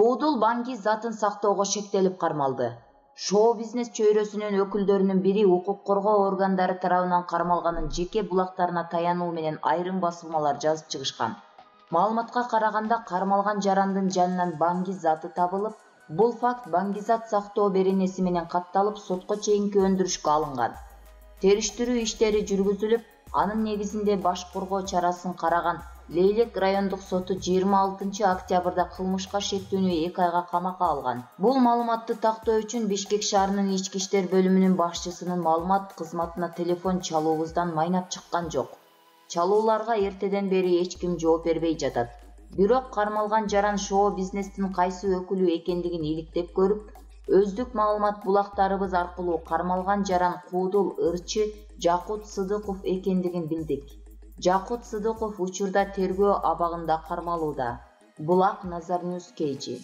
Куудул банки затын сактоого шектелип кармалды. Шоу-бизнес чөйрөсүнүн өкүлдөрүнүн бири укук коргоо органдары тарабынан кармалганын жеке булактарына таянуу менен айрым басылмалар жазып чыгышкан. Маалыматка караганда кармалган жарандын жанынан банки заты табылып, бул факт Баңгизат сактоо беренеси менен катталып, сотко чейинки өндүрүшкө алынган. Териштирүү иштери жүргүзүлүп, анын негизинде баш коргоо чарасын караган Лейлек райондук соту 26 октябрда кылмышка шектүүнү 2 айга камакка алган. Бул маалыматты тактоо үчүн Бишкек шаарынын ички иштер бөлүмүнүн башчысынын маалымат кызматына телефон чалуубуздан майнап чыккан жок. Чалууларга эртеден бери эч ким жооп бербей жатат. Бирок кармалган жаран шоу-бизнестин кайсы өкүлү экендигин иликтеп көрүп, өздүк маалымат булактарыбыз аркылуу кармалган жаран Куудул ырчы Жакут Сыдыков экендигин билдик. Жакут Сыдыков учурда тергөө абагында кармалууда. Булак Назар Ньюс KG.